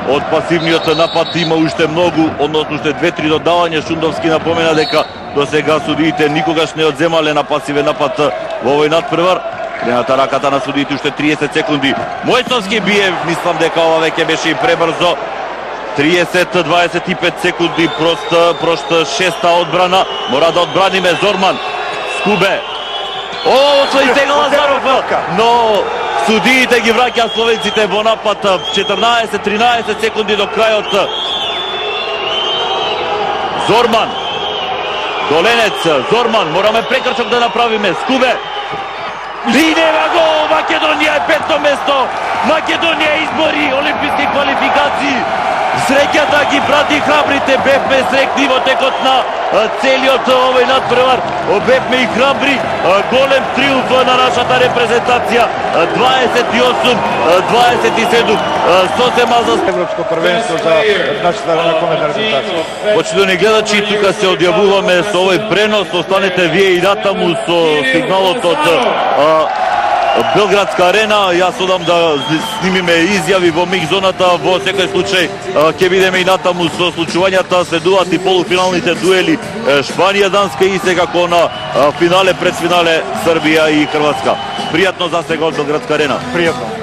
Од пасивниот напад има уште многу, односно уште 2-3 додавања. Шундовски напомена дека до сега судиите никогаш не одземале на пасивен напад во овој надпревар. Крената раката на судиите, уште 30 секунди. Мојсовски бие, мислам дека ова веќе беше и пребрзо. 30-25 секунди, прошта шеста одбрана. Мора да одбраниме Зорман. Скубе. Освои сега Лазаров, но судиите ги враќаат словенците во напад. 14-13 секунди до крајот. Зорман. Доленец, Зорман, мораме прекрчок да направиме. Скубе. И нема гол, Македонија е петто место. Македонија избори олимписки квалификации. Среќата ги прати храбрите, бевме срекни во текот на целиот овој надпревар. Бевме и храбри, голем триумф на нашата репрезентација. 28-27, сосема за Европско првенство за нашата ракометна репрезентација. Почитувани гледачи, тука се одјавуваме со овој пренос, останете вие и натаму со сигналот од Белградска арена. Јас одам да снимиме изјави во миг зоната. Во секој случај ќе бидеме и натаму со случувањата. Следуваат и полуфиналните дуели Шпанија, Данска и секако на финале, предфинале Србија и Хрватска. Пријатно за сега од Белградска арена. Пријатно.